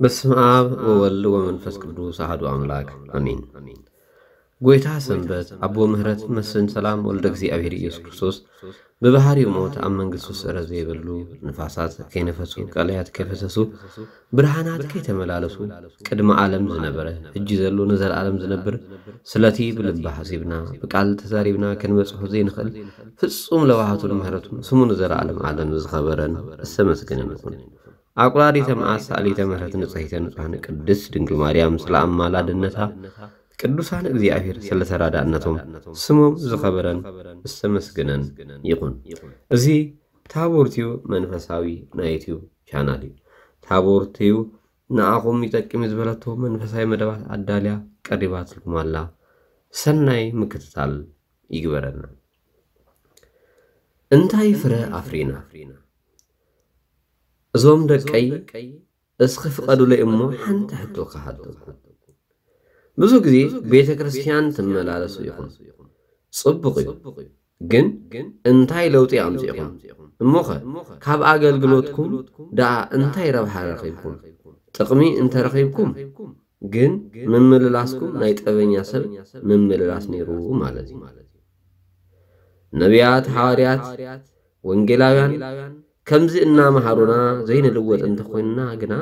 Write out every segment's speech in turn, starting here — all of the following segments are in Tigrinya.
በስመ አብ ወወልድ ወመንፈስ ቅዱስ አሐዱ አምላክ አሜን። ጎይታ ሰንበት፣ አቦ ምህረት፣ መስፍን ሰላም፣ ወልደ እግዚኣብሔር ኢየሱስ ክርስቶስ፣ ብባህሪኡ ሞት፣ ኣብ መንግስቱ ስዕረት ዘይብሉ፣ ንፋሳት ከይነፈሱ፣ ቀላያት ከይፈሰሱ፣ ብርሃናት ከይተመላለሱ፣ ቅድሚ ዓለም ዝነበረ፣ ሕጂ ዘሎ፣ ንዘለዓለም ዝነብር፣ ስለቲ ብልቢ ሓሲብና፣ ብቃል ተዛሪብና ክንበጽሖ ዘይንኽእል ፍጹም ለዋሃቱን ምህረቱን ስሙ ንዘለዓለም ዓለም ዝኸበረን ዝተመስገነን ይኹን። ኣቁራሪተ መዓት፣ ሰኣሊተ ምህረት፣ ንጽሕተ ንጹሐን ቅድስት ድንግል ማርያም ስለ ኣማላድነታ፣ ቅዱሳን እግዚኣብሔር ስለ ተራዳእነቶም ስሞም ዝኸበረን ዝተመስገነን ይኹን። እዚ ታቦር ቲዩ መንፈሳዊ ናይ ዩቲዩብ ቻናል እዩ። ታቦር ቲዩ ንዓኹም ይጠቅም እዩ ዝበለቶ መንፈሳዊ መደባት ኣዳልያ ቀሪባትልኩም ኣላ። ሰናይ ምክትታል ይግበረና። እንታይ ፍረ ኣፍሪና? እዞም ደቀይ፣ እስኺ ፍቐዱለይ እሞ ሓንቲ ሕቶ ክሓተኩም። ብዙ ግዜ ቤተ ክርስቲያን ትመላለሱ ኢኹም። ጽቡቕ እዩ። ግን እንታይ ለውጢ ኣምጺእኹም? እሞኸ ካብ ኣገልግሎትኩም ደኣ እንታይ ረብሓ ረኺብኩም? ጥቕሚ እንተረኺብኩም ግን ምምልላስኩም ናይ ጠበኛ ሰብ ምምልላስ ነይሩ ማለት እዩ። ነቢያት፣ ሓዋርያት፣ ወንጌላውያን ከምዚ እናመሃሩና ዘይንልወጥ እንተኾይንና ግና፣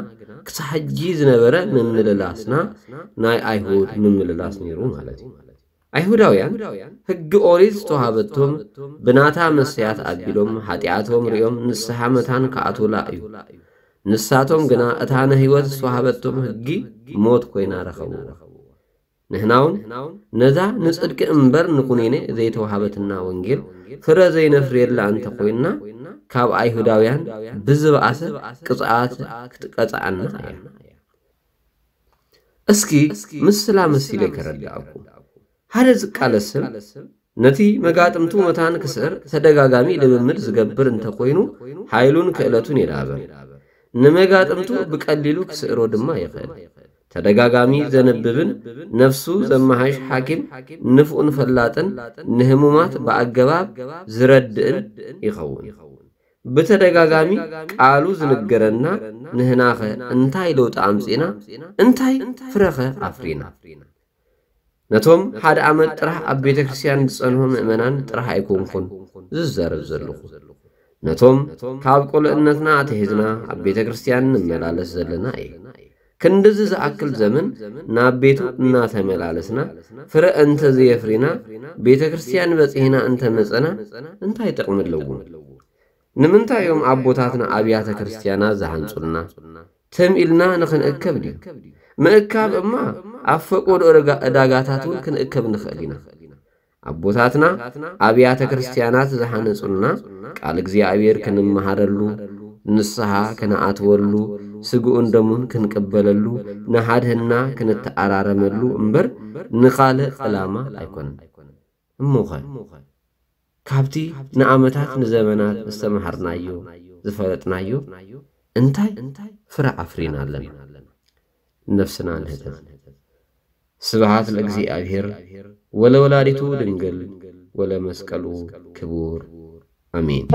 ክሳብ ሕጂ ዝነበረ ምምልላስና ናይ ኣይሁድ ምምልላስ ነይሩ ማለት እዩ። ኣይሁዳውያን ሕጊ ኦሪት ዝተዋሃበቶም ብናታ መሰያት ኣቢሎም ሓጢኣቶም ሪኦም ንስሓ መታን ክኣትዉላ እዩ። ንሳቶም ግና እታ ንህይወት ዝተዋሃበቶም ሕጊ ሞት ኮይና ረኸብዎ። ንሕናውን ነዛ ንጽድቂ እምበር ንኩኔኔ ዘይተዋሃበትና ወንጌል ፍረ ዘይነፍርየላ እንተኾይንና፣ ካብ ኣይሁዳውያን ብዝበኣሰ ቅጽዓት ክትቀጽዓና እያ። እስኪ ምስላ መሲለ ከረድኣኩም። ሓደ ዝቃለስ ሰብ ነቲ መጋጥምቱ መታን ክስዕር ተደጋጋሚ ልምምድ ዝገብር እንተኾይኑ፣ ሓይሉን ክእለቱን የዳብር። ንመጋጥምቱ ብቀሊሉ ክስዕሮ ድማ ይኽእል። ተደጋጋሚ ዘንብብን ነፍሱ ዘመሓይሽ ሓኪም ንፉዕን ፈላጥን ንህሙማት ብኣገባብ ዝረድእን ይኸውን። ብተደጋጋሚ ቃሉ ዝንገረና ንህናኸ እንታይ ለውጢ ኣምጺእና? እንታይ ፍረኸ ኣፍሪና? ነቶም ሓደ ዓመት ጥራሕ ኣብ ቤተ ክርስቲያን ዝጸንሑ ምእመናን ጥራሕ ኣይኮንኩን ዝዛረብ ዘለኹ። ነቶም ካብ ቁልዕነትና ኣትሒዝና ኣብ ቤተ ክርስቲያን ንመላለስ ዘለና እየ። ክንድዚ ዝኣክል ዘመን ናብ ቤቱ እናተመላለስና ፍረ እንተዘየፍሪና፣ ቤተ ክርስቲያን በጺሕና እንተመጸና እንታይ ጥቕሚ ኣለዎ? ንምንታይ እዮም ኣቦታትና ኣብያተ ክርስቲያናት ዝሃንጹልና? ትም ኢልና ንኽንእከብ ድዩ? ምእካብ እማ ኣብ ፈቆዶ ዕዳጋ-፣ ዕዳጋታት እውን ክንእከብ ንኽእል ኢና። ኣቦታትና ኣብያተ ክርስቲያናት ዝሃነጹልና ቃል እግዚኣብሔር ክንመሃረሉ፣ ንስሓ ክንኣትወሉ፣ ስግኡን ደሙን ክንቅበለሉ፣ ንሓድህና ክንተኣራረመሉ እምበር ንኻልእ ዕላማ ኣይኮነን። እሞኸ ካብቲ ንዓመታት ንዘመናት ዝተመሃርናዮ ዝፈለጥናዮ እንታይ ፍረ ኣፍሪና ኣለና? ነፍስና ንህተት። ስብሃት ለእግዚኣብሔር ወለወላዲቱ ድንግል ወለመስቀሉ ክቡር። ኣሜን።